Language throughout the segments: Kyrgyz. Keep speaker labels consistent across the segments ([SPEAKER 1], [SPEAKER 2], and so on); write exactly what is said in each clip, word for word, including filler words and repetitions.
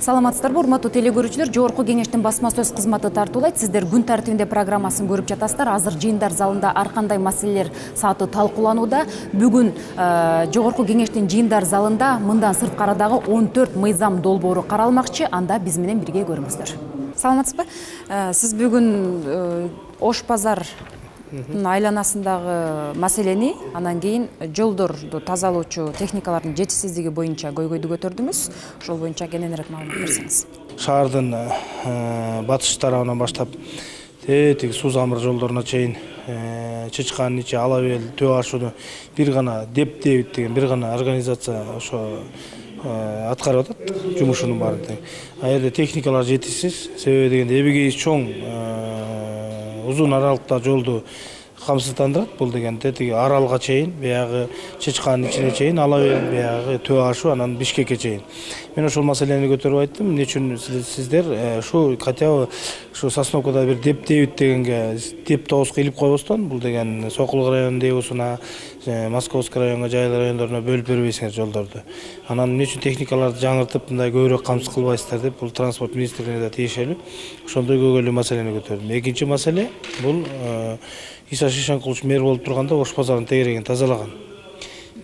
[SPEAKER 1] Саламатсыздарбы, урматтуу теле көрүүчүлөр? Жогорку кеңештин басма сөз кызматы тартуулайт. Сиздер күн тартибинде программасын көрүп жатасыздар. Азыр жыйындар залында ар кандай маселелер сааты талкууланууда. Бүгүн жогорку кеңештин жыйындар залында мындан сырткарадагы он төрт мыйзам долбоору каралмакчы. Анда биз менен бирге көрүңүздөр. Саламатсызбы? Сиз бүгүн Ош базар айланасындагы маселени, анан кийин жолдорду тазалоочу техникалардын жетишсиздиги боюнча көйгөйдү көтөрдүңүз. Ошол боюнча кененирээк маалымат берсеңиз.
[SPEAKER 2] Шаардын батыш тарабынан баштап тетиги суу замыр жолдоруна чейин Чычкан ичи ала бел төө ашууну бир гана деп дебит деген бир гана организация ошо аткарып атат жумушунун баарын тең. А жерде техникалар жетишсиз, себеби дегенде эбегейи чоң узун аралыкта жолду камсыздандырат. Бул деген тетиги аралга чейин, биягы Чычканын ичине чейин, ала бел биягы төө ашуу, анан Бишкекке чейин. Мен ошол маселени көтөрүп айттым. Эмне үчүн сиздер ушу хотя бы ушу Сосновкада бир деп дебит дегенге деп тооско илип койбостон, бул деген Сокулук районунун дебусуна, Московский районго, Жайыл райондоруна бөлүп бербейсиңер жолдорду. Анан эмне үчүн техникаларды жаңыртып, мындай көбүрөөк камсыз кылбайсыздар деп, бул транспорт министрлигине да тиешелүү. Ошондой көйгөйлүү маселени көтөрдүм. Экинчи маселе бул Иса Шишенкулович мэр болуп турганда Ош базарынын тегерегин тазалаган.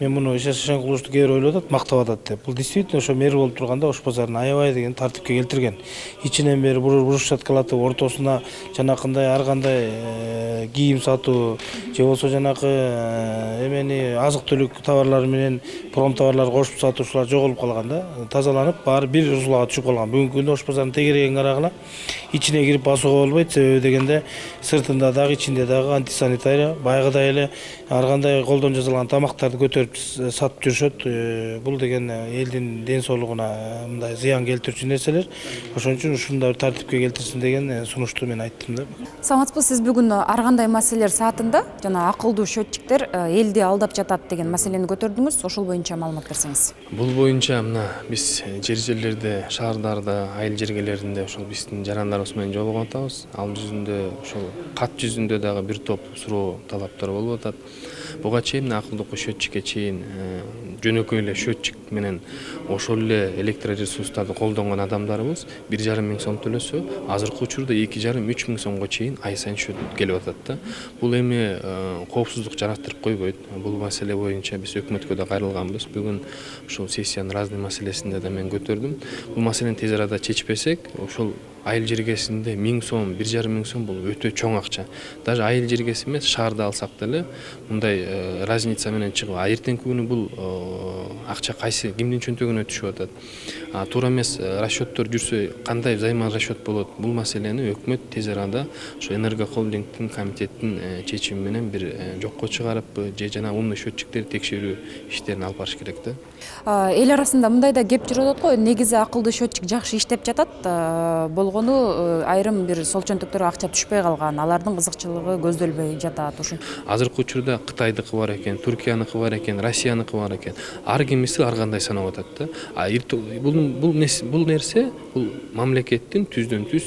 [SPEAKER 2] Мен муну Иса Шишенкуловичту кээ бир ойлоп атат, мактап атат деп. Бул действительно ошо мэр болуп турганда Ош базарын аябай деген тартипке келтирген. Ичинен бери брусчаткалатып, ортосуна жанакындай ар кандай кийим сатуу, же болбосо жанакы эмени азык-түлүк товарлары менен пром товарлар кошуп сатуучулар жоголуп калган да. Тазаланып, баары бир узулага түшүп калган. Бүгүнкү күндө Ош базарынын тегерегин карагыла, ичине кирип басууга болбойт. Себеби дегенде сыртында дагы, ичинде дагы антисанитария, байгыдай эле ар кандай колдон жасалган тамактарды көтөрүп сатып жүрүшөт. Бул деген элдин ден соолугуна мындай зыян келтирүүчү нерселер. Ошон үчүн ушундай тартипке келтирсин деген сунушту мен айттым да.
[SPEAKER 1] Саламатсызбы? Сиз бүгүн ар кандай маселелер саатында жана акылдуу счетчиктер элди алдап жатат деген маселени көтөрдүңүз. Ошол боюнча маалымат берсеңиз.
[SPEAKER 3] Бул боюнча мына биз жер жерлерде, шаардарда, айыл жергелеринде ошол биздин жарандарыбыз менен жолугуп атабыз. Ал жүзүндө ошол кат жүзүндө дагы бир топ суроо талаптар болуп атат. Буга чейин акылдуу счетчикке чейин жөнөкөй эле счетчик менен ошол эле электроресурстарды колдонгон адамдарыбыз бир жарым миң сом төлөсө, азыркы учурда эки жарым үч миң сомго чейин ай сайын счет келип атат да. Бул эми коопсуздук жараттырып койбойт. Бул маселе боюнча биз өкмөткө да кайрылганбыз. Бүгүн ушул сессиянын разный маселесинде да мен көтөрдүм. Бул маселени тез арада чечпесек, ошол айыл жергесинде миң сом, бир жарым миң сом бул өтө чоң акча. Даже айыл жергеси эмес, шаарда алсак деле мындай разница менен чыгып, а эртеңки күнү бул акча кайсы кимдин чөнтөгүнө түшүп атат. А туура эмес расчеттор жүрсө, кандай займан расчет болот? Бул маселени өкмөт тез арада ошо энергохолдингдин комитеттин чечими менен бир жокко чыгарып, же жана умный счетчиктерди текшерүү иштерин алып барыш керек да.
[SPEAKER 1] Эл арасында мындай да кеп жүрүп атат го, негизи акылдуу счетчик жакшы иштеп жатат, болгону айрым бир сол чөнтөктөргө акча түшпөй калган, алардын кызыкчылыгы көздөлбөй жатат. Ушун
[SPEAKER 3] азыркы учурда Кытайдыкы бар экен, Түркияныкы бар экен, Россияныкы бар экен. Ар кимиси ар кандай санап атат да. А бул бул бул нерсе бул мамлекеттин түздөн түз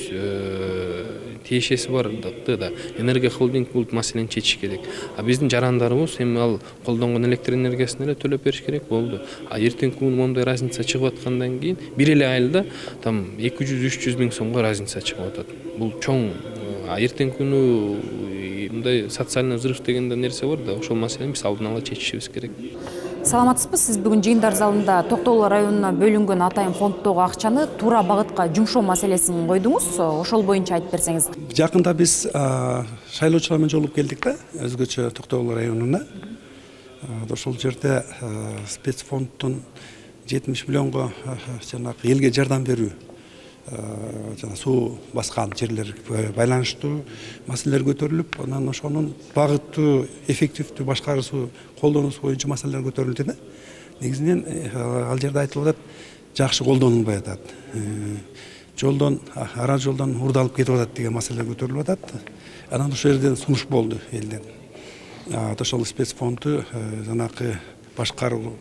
[SPEAKER 3] тиешеси бардыкты да. Энергохолдинг бул маселени чечиш керек. А биздин жарандарыбыз эми ал колдонгон электр энергиясын эле төлөп бериш керек болду. А эртеңки күнү моундай разница чыгып аткандан кийин бир эле айылда там эки жүз үч жүз миң сомго разница чыгып атат. Бул чоң. А эртеңки күнү мындай социальный взрыв деген нерсе бар да. Ошол маселени биз алдын ала чечишибиз керек.
[SPEAKER 1] Саламатсызбы? Сиз бүгүн жыйындар залында Токтогул районуна бөлүнгөн атайын фонддогу акчаны туура багытка жумшоо маселесин койдуңуз. Ошол боюнча айтып берсеңиз.
[SPEAKER 4] Жакында биз шайлоочулар менен жолугуп келдик да, өзгөчө Токтогул районуна. Ошол жерде спецфонддун жетимиш миллионго жанагы элге жардам берүү, жана суу баскан жерлерге байланыштуу маселелер көтөрүлүп, анан ошонун багыттуу, эффективдүү башкаруусу, колдонуусу боюнча маселелер көтөрүлдү да. Негизинен ал жерде айтылып атат, жакшы колдонулбай атат. Жолдон, ара жолдон урдалып кетип атат деген маселелер көтөрүлүп атат. Анан ошол жерден сунуш болду элден. Ошол спецфонду жанакы башкаруу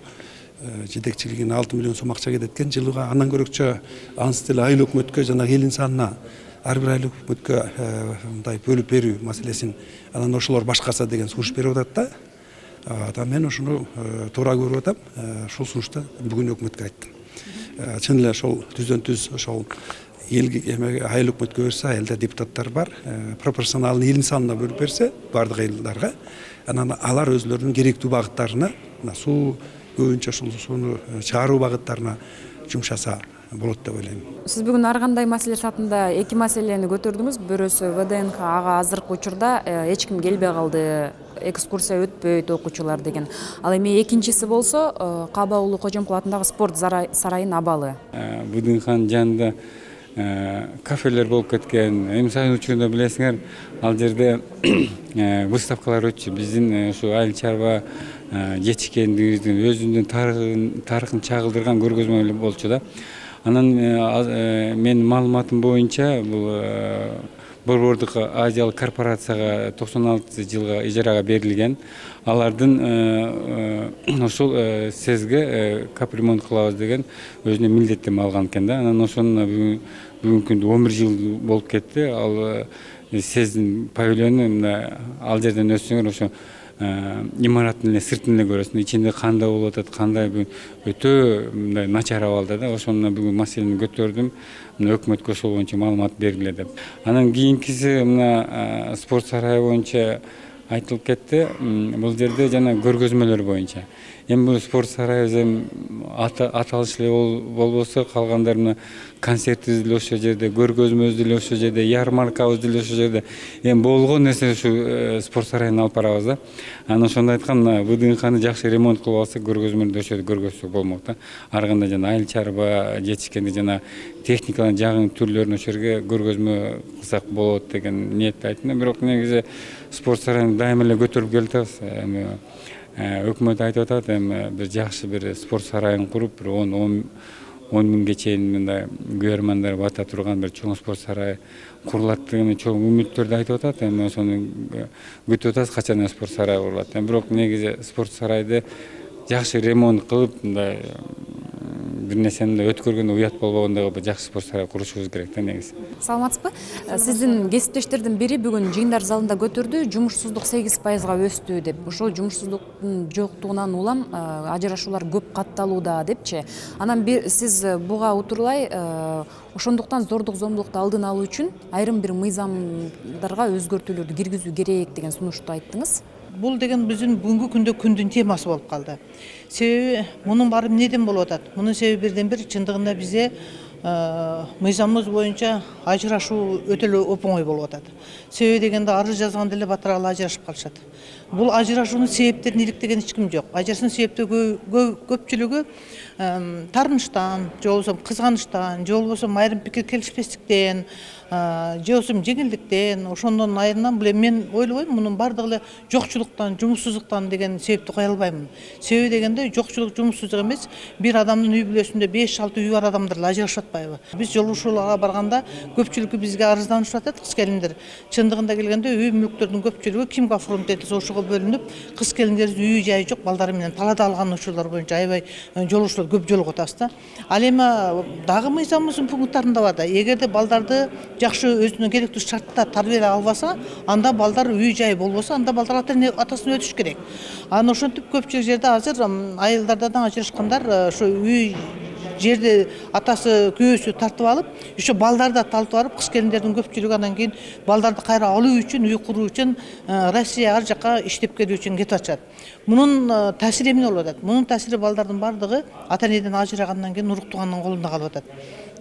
[SPEAKER 4] жетекчилигине алты миллион сом акча кетет экен жылыга. Андан көрөкчө ансыз деле айыл өкмөткө жана элдин санына ар бир айыл өкмөткө мындай бөлүп берүү маселесин анан ошолор башкарса деген сунуш берип атат да. Мен ушуну туура көрүп атам. Ушул сунушту бүгүн өкмөткө айттым. чын эле ошол түздөн түз ошол элге эме айыл өкмөткө берсе, айылда депутаттар бар, пропорционалдуу элдин санына бөлүп берсе бардык айылдарга, анан алар өзлөрүнүн керектүү багыттарына, суу көбүнчө ушул сууну чыгаруу багыттарына жумшаса болот деп ойлойм.
[SPEAKER 1] Сиз бүгүн ар кандай маселе сатында эки маселени көтөрдүңүз. Бирөөсү вэ дэ эн ка ага азыркы учурда эч ким келбей калды, экскурсия өтпөйт окуучулар деген. Ал эми экинчиси болсо Каба уулу Кожомкул атындагы спорт сарайынын абалы.
[SPEAKER 5] вэ дэ эн канын жанында кафелер болуп кеткен. Эми сайын учурунда билесиңер, ал жерде выставкалар өтчү. Биздин ушу айыл чарба жетишкендигибиздин өзүнүн тарыхын чагылдырган көргөзмө болчу да. Анан менин маалыматым боюнча бул Борбордук Азиялык корпорацияга токсон алтынчы жылга ижарага берилген. Алардын ошол сезге капремонт кылабыз деген өзүнө милдеттеме алган экен да. Анан ошону бүгүнкү күндө он бир жыл болуп кетти. Ал сездин павильону ал жерден өтсөңөр ошо имараттын эле сыртын эле көрөсүң, ичинде кандай болуп атат, кандай өтө мындай начар абалда да. Ошону бүгүн маселени көтөрдүм. Мына өкмөткө ошол боюнча маалымат бергиле деп. Анан кийинкиси мына спорт сарайы боюнча айтылып кетти. Бул жерде жана көргөзмөлөр боюнча. Эми бул спорт сарайыбыз эми аталыш эле болбосо, калгандар мына концертибиз деле ошол жерде, көргөзмөбүз деле ошол жерде, ярмаркабыз деле ошол жерде. Эми болгон нерсе ушу спорт сарайына алып барабыз да. Анан ошондо айткам, мына вэ дэ эн каны жакшы ремонт кылып алсак, көргөзмөлөрдү ошол жерде көргөзсөк болмок да. Ар кандай жана айыл чарба жетишкенди жана техниканын жагын түрлөрүн ошол жерге көргөзмө кылсак болот деген ниетте айттым. Бирок негизи спорт сарайын дайыма эле көтөрүп келатабыз. Эми өкмөт айтып атат, эми бир жакшы бир спорт сарайын куруп, бир он миңге чейин мындай күйөрмандар бата турган бир чоң спорт сарай курулат деген чоң үмүттөрдү айтып атат. Эми ошону күтүп атабыз, качан спорт сарай курулат. Бирок негизи спорт сарайды жакшы ремонт кылып, мындай бир нерсени өткөргөндө уят болбогондой бир жакшы спорт сарай курушубуз керек да негизи.
[SPEAKER 1] Саламатсызбы? Сиздин кесиптештердин бири бүгүн жыйындар залында көтөрдү, жумушсуздук сегиз пайызга өстү деп. Ошол жумушсуздуктун жоктугунан улам ажырашуулар көп катталууда депчи. Анан сиз буга утурлай ошондуктан зордук зомбулукту алдын алуу үчүн айрым бир мыйзамдарга өзгөртүүлөрдү киргизүү керек деген сунушту айттыңыз.
[SPEAKER 6] Бул деген биздин бүгүнкү күндө күндүн темасы болуп калды. Себеби мунун баары эмнеден болуп атат? Мунун себеби бирден бир чындыгында бизде мыйзамыбыз боюнча ажырашуу өтө эле оп-оңой болуп атат. Себеби дегенде арыз жазганда эле батыралы ажырашып калышат. Бул ажырашуунун себептерин иликтеген эч ким жок. Ажырашуунун себептери көпчүлүгү таарынычтан, же болбосо кызганычтан, же болбосо айрым пикир келишпестиктен, же болбосо жеңилдиктен, ошондон айрынан бул мен ойлобойм, мунун бардыгы эле жокчулуктан, жумушсуздуктан деген себепти кое албаймын. Себеби дегенде жокчулук, жумушсуздук эмес, бир адамдын үй бүлөсүндө беш алты үй бар адамдар эле ажырашып атпайбы? Биз жолугушууларга барганда көпчүлүгү бизге арызданышып атат, кыз келиндер. Чындыгында келгенде үй мүлктөрдүн көпчүлүгү кимге оформить этилсе ошого бөлүнүп, кыз келиндерибиз үй жайы жок, балдары менен талаада алган учурлар боюнча аябай жолугушуулар көп жолугуп атабыз да. Ал эми дагы мыйзамыбыздын пункттарында бар да, эгерде балдарды жакшы өзүнө керектүү шартта тарбиялай албаса, анда балдар үй жайы болбосо, анда балдар атасын өтүш керек. Анан ошентип көпчүлүк жерде азыр айылдардан ажырашкандар ошо үй жерди атасы күйөөсү тартып алып, ошо балдарды да тартып алып, кыз келиндердин көпчүлүгү анан кийин балдарды кайра алуу үчүн, үй куруу үчүн Россия ар жака иштеп келүү үчүн кетип атышат. Мунун таасири эмне болуп атат? Мунун таасири балдардын бардыгы ата энеден ажырагандан кийин уруктуганын колунда калып атат.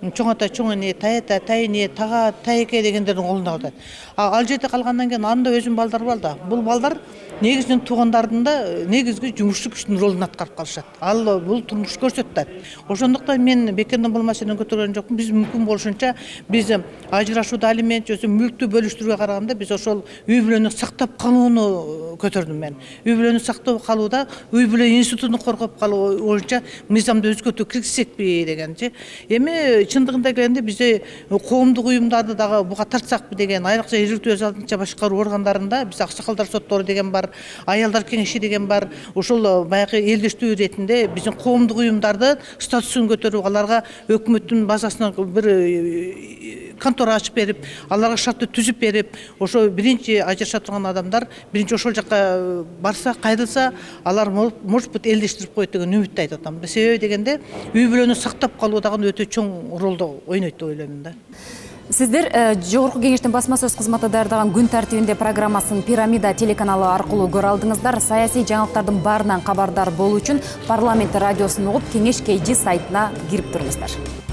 [SPEAKER 6] Чоң ата, чоң эне, тайата, тайне, тага, тайеке дегендердин колунда калып атат. Ал жерде калгандан кийин анда өзүнүн балдары бар да. Бул балдар негизинен туугандардын да негизги жумушчу күчтүн ролун аткарып калышат. Ал бул турмуш көрсөтүп атат. Ошондуктан мен бекерден бул маселени көтөргөн жокмун. Биз мүмкүн болушунча биз ажырашууда алимент же мүлктү бөлүштүрүүгө караганда биз ошол үй бүлөнү сактап калууну көтөрдүм мен. Үй бүлөнү сактап калууда үй бүлө институтун коргоп калуу боюнча мыйзамды өзгөртүү киргизсекпи дегенчи. Эми чындыгында келгенде бизде коомдук уюмдарды дагы буга тартсакпы деген, айрыкча жергиликтүү өз алдынча башкаруу органдарында биз аксакалдар соттору деген бар, аялдар кеңеши деген бар. Ошол баягы элдештүү иретинде биздин коомдук уюмдарды статусун көтөрүп, аларга өкмөттүн базасынан бир контора ачып берип, аларга шартты түзүп берип, ошо биринчи ажыраша турган адамдар биринчи ошол жака барса, кайрылса, алар может быть элдештирип коет деген үмүттү айтып атам. Себеби дегенде үй бүлөнү сактап калуу дагы өтө чоң ролду ойнойт деп ойлойм да.
[SPEAKER 1] Сиздер Жогорку Кеңештин басма сөз кызматы даярдаган күн тартибинде программасын Пирамида телеканалы аркылуу көрө алдыңыздар. Саясий жаңылыктардын баарынан кабардар болуу үчүн Парламент радиосун угуп, Кеңеш кей жи сайтына кирип туруңуздар.